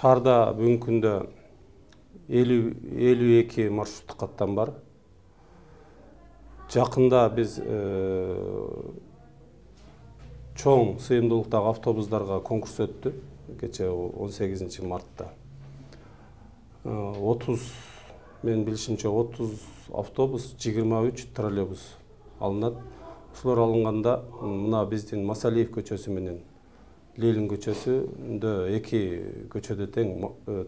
Шаарда бүгүнкү күндө 52 маршруттук каттам бар. Жакында биз чоң сыйымдуулуктагы автобустарга конкурс өттү. Кече 18 мартта. 30, мен билишимче 30 автобус, 23 троллейбус алынат. Ушулар алынганда мына биздин Масалиев көчөсү менен Ленин көчөсүндө эки көчөдө тең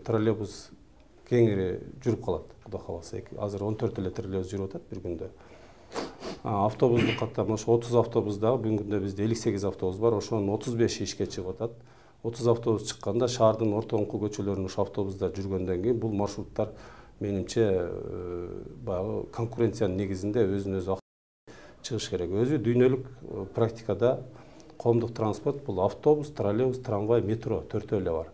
троллейбус кеңири жүрүп калат. Кудай кааласа, азыр 14 эле троллейбус жүрүп атат бир күндө. Автобустук каттам ошо 30 автобусда бүгүнкү күндө бизде 58 автобус бар. Ошонун 35 ишке чыгып атат. 30 автобус чыкканда шаардын ортоңку көчөлөрүнүн ошо автобустар жүргөндөн кийин бул маршруттар менимче баягы конкуренциянын негизинде өзүн өзү чыгыш керек. Өзү дүйнөлүк практикада коомдук транспорт бул автобус, троллейбус, трамвай, метро төртөө эле бар.